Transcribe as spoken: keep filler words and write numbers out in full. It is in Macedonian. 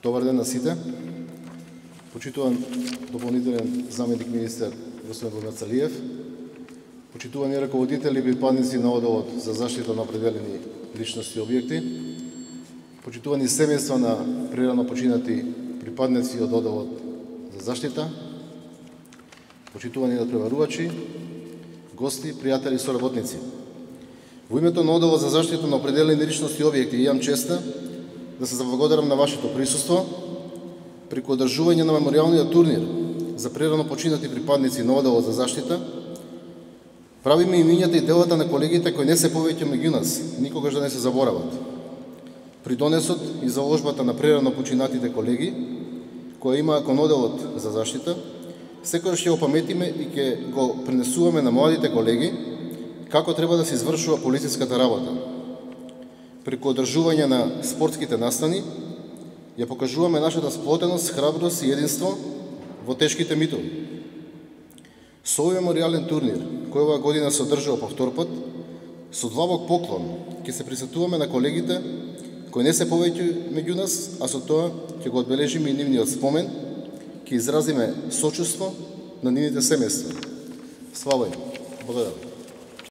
Добар ден на сите. Почитуван дополнителен заменик министер господин Богдан Цалиев, почитувани раководители и припадници на Одделот за заштита на определени личности и објекти, почитувани семејства на прирано починати припадници од Одделот за заштита, почитувани надпреварувачи, гости, пријатели и соработници. Во името на Одделот за заштита на определени личности и објекти имам честа да се заблагодарам на вашето присуство преку одржување на меморијалниот турнир за прерано починати припадници на Одделот за заштита. Правиме имињата и делата на колегите кои не се повеќе меѓу нас, никогаш да не се заборават. Придонесот и заложбата на прерано починатите колеги, која имаа кон Одделот за заштита, секојаш ќе опаметиме и ќе го пренесуваме на младите колеги како треба да се извршува полициската работа. Преку одржување на спортските настани, ја покажуваме нашата сплотеност, храброст и единство во тешките митови. Со овој меморијален турнир, кој оваа година се одржува по втор пат, со длабок поклон ќе се присетуваме на колегите кои не се повеќе меѓу нас, а со тоа ќе го одбележиме и нивниот спомен, ќе изразиме сочувство на нивните семејства. Слава им! Благодарам.